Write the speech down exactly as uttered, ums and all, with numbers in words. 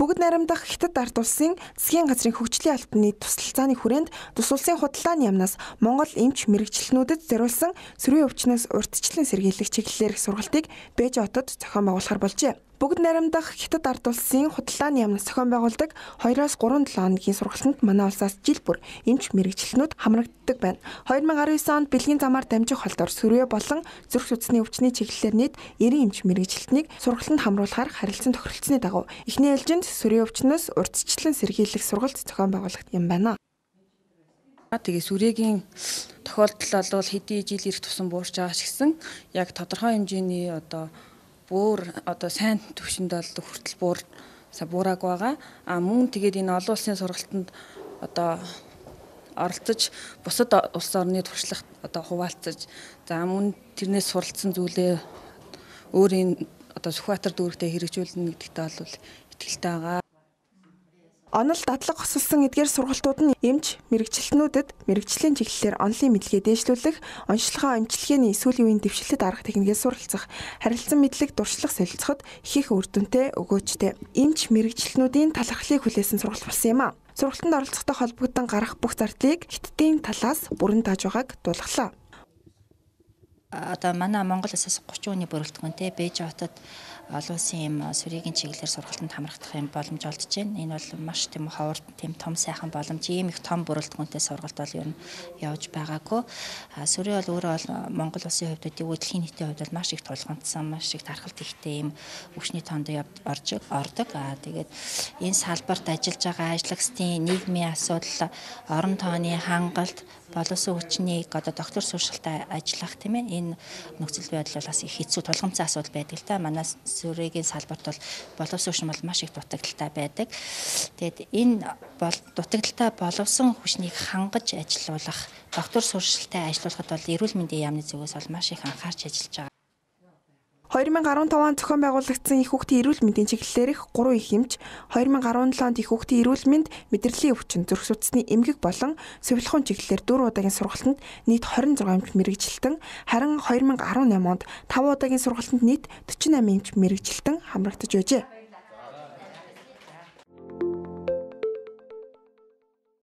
Бүгд найрамдах Хятад ард улсын засгийн газрын хөгжлийн албаны тусалцааны хүрээнд тус улсын худалдааны яамнаас Монгол эмч мэрэгчлэнүүдэд зориулсан сөрийн өвчнөөс урьдчилан сэргийлэх чиглэлээр их сургалтыг Бээжин хотод зохион байгуулахар болжээ. Бүгд найрамдах Хятад ард улсын худалдааны яамнаас зохион байгуулдаг двоёроос гурван хоногийн сургалтанд манай улсаас жил бүр эмч мэрэгчлэнүүд хамрагддаг байна. две тысячи десять онд бэлгийн замаар дамжих холдоор сөрөө болон зүрх судасны өвчний чиглэлээр нийт девяносто эмч мэрэгчлэлтнийг сургалтанд хамруулахаар харилцан тохиролцсны дагуу эхний ээлжинд сөрийн өвчнөөс урьдчилан сэргийлэх сургалт зохион байгуулах юм байна. Тэгээ сүрээгийн тохиолдол бол хэдий жил ирэх тусам буурч байгаа ч гэсэн яг тодорхой хэмжээний одоо бүр одоо сайн төвшөнд бол хүртэл буур буураг байгаа. А мөн тэгээд энэ олон улсын сургалтанд одоо оролцож бусад улс орны туршлагт одоо хуваалцаж за мөн тэрнээс суралцсан зүйлээ өөрийн одоо Сүхбаатар дүүрэгтээ хэрэгжүүлнэ гэдэгтээ бол итгэлтэй байгаа. Онол дадлаг хосолсон эдгээр сургалтууд нь эмч мэрэгчлэнүүдэд мэрэгчлийн чиглэлээр онлын мэдлэгээ дээшлүүлэх, онцлогоо эмчилгээний сүүлийн үеийн дэвшилтэд арга техникээр суралцах, харилцан мэдлэг дуршлах солилцоход их их үр дүнтэй өгөөжтэй. Эмч мэрэгчлэнүүдийн талархлыг хүлээсэн сургалт болсон юм а. Сургалтанд оролцохтой холбогдсон гарах бүх зардлыг Хятадын талаас бүрэн тааж байгааг дуулгалаа. Одоо манай Монгол улсаас гурван хүний бүрэлдэхүүнтэй Бээжин хотод олон улсын юм сүрээгийн чиглэлээр сургалтанд хамрагдах юм боломж олдож байна. Энэ бол маш тийм ховор тийм том сайхан боломж. Ийм их том бүрэлдэхүүнтэй сургалт бол ер нь явж байгаагүй. Сүрээ бол өөрөө бол Монгол улсын хувьд үгүй дэлхийн нийтийн хувьд бол маш их тулгамдсан, маш их тархалт ихтэй юм өвчний тоонд орж ордог. Аа тэгээд энэ салбарт ажиллаж байгаа ажлагчдын нийгмийн асуудал, орон тооны хангалт, боловсон хүчнийг одоо доктор суршилтаа ажиллах тийм ээ энэ нөхцөл байдал бол бас их хэцүү тулгамдсан асуудал байдаг л та. Манай сүрээгийн салбарт бол боловсон хүчин бол маш их дутагдaltaй байдаг. Тэгээд энэ бол дутагдaltaй боловсон хүчнийг хангаж ажилуулах, доктор суршилтаа ажиллуулахад бол эрүүл мэндийн яамны зүгээс бол маш их анхаарч ажиллаж байгаа. две тысячи десять онд зохион байгуулагдсан их хүүхдийн эрүүл мэндийн чиглэлээрх гурван их эмч, две тысячи десять онд их хүүхдийн эрүүл мэнд, мэдрэлийн өвчин, зүрх судасны эмгэг болон сувилахуун чиглэлээр дөрвөн удаагийн сургалтанд нийт двадцать шесть эмч мэрэгжилтэн, харин две тысячи десять онд таван удаагийн сургалтанд нийт forty-eight эмч мэрэгжилтэн хамрагдаж байжээ.